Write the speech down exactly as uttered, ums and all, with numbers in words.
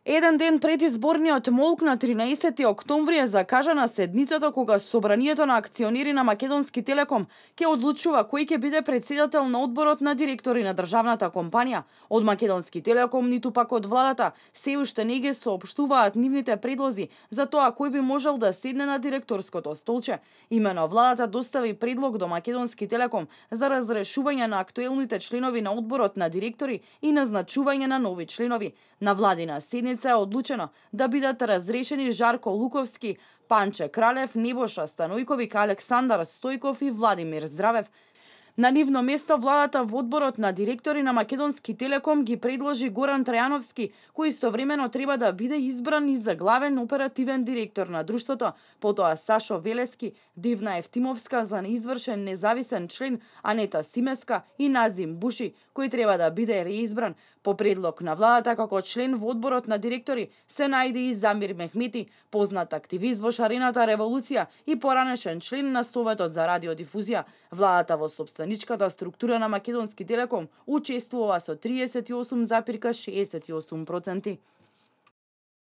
Еден ден пред изборниот молк на тринаесети октомври е закажана седницата кога собранието на акционери на Македонски телеком ќе одлучува кој ќе биде претседател на одборот на директори на државната компанија. Од Македонски телеком ниту пак од владата се уште не ги соопштуваат нивните предлози за тоа кој би можел да седне на директорското столче. Имено владата достави предлог до Македонски телеком за разрешување на актуелните членови на одборот на директори и назначување на нови членови. На владина седница е одлучено да бидат разрешени Жарко Луковски, Панче Кралев, Небоша Станојковик, Александар Стојков и Владимир Здравев. На нивно место владата во одборот на директори на Македонски телеком ги предложи Горан Трајановски, кој истовремено треба да биде избран и за главен оперативен директор на друштвото, потоа Сашо Велески, Дивна Евтимовска за неизвршен независен член, Анета Симеска и Назим Буши, кој треба да биде реизбран. По предлог на владата како член во одборот на директори се најде и Замир Мехмети, познат активист во шарената револуција и поранешен член на Советот за радиодифузија. Владата во собственичката структура на Македонски телеком учествува со триесет и осум зарез шеесет и осум проценти.